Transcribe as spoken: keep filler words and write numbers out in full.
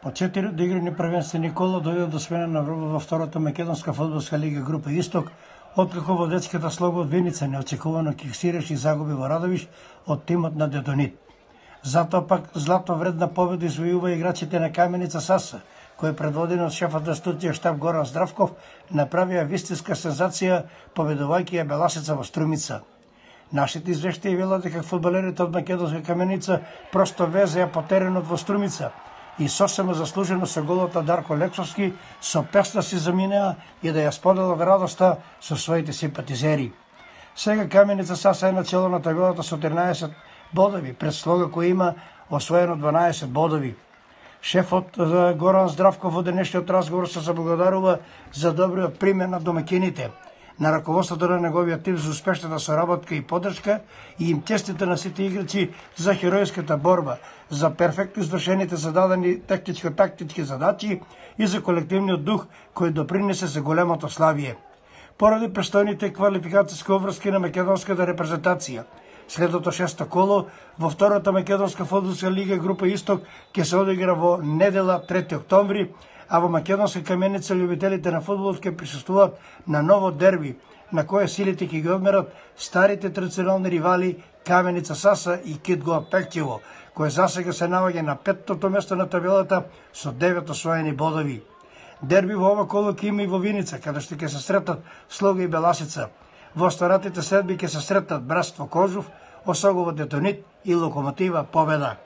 По четири одиграни првенствени кола дојде до смена на врвот во втората македонска фудбалска лига група Исток, откако во детската слога од Виница неочекувано киксираше и загуби во Радовиш од тимот на Дедонит. Затоа пак злато вредна победа извојува играчите на Каменица Саса, кои предводени од шефот на студија штаб Горан Здравков направија вистинска сензација победувајќи ја Беласица во Струмица. Нашите извештаи велат дека фудбалерите од македонска Каменица просто везеа по теренот во Струмица и сосема заслужено со голот на Дарко Лексовски со песна си заминеа и да ја споделат радоста со своите симпатизери. Сега Каменица Саса е на чело на табелата со тринаесет бодови, пред слога кој има освоено дванаесет бодови. Шефот Горан Здравков во денешниот разговор се заблагодарува за добриот пример на домакините, на раководството на неговиот тим за успешната соработка и поддршка и им честите на сите играчи за херојската борба, за перфектно извршените зададени тактичко-тактички задачи и за колективниот дух кој допринесе за големото славие. Поради престојните квалификацијски обврски на македонската репрезентација, следното шесто коло во втората македонска фудбалска лига група Исток ќе се одигра во недела трети октомври, а во македонска Каменица љубителите на фудбалот ќе присуствуваат на ново дерби, на кое силите ќе ги одмерат старите традиционални ривали Каменица Саса и Китго Пекчево, кој засега се наоѓа на петтото место на табелата со девет освоени бодови. Дерби во ова коло ќе има и во Виница, каде што ќе се сретат Слога и Беласица. Во останатите следби ќе се сретат Братство Кожув, Осогово Дедонит и Локомотива Победа.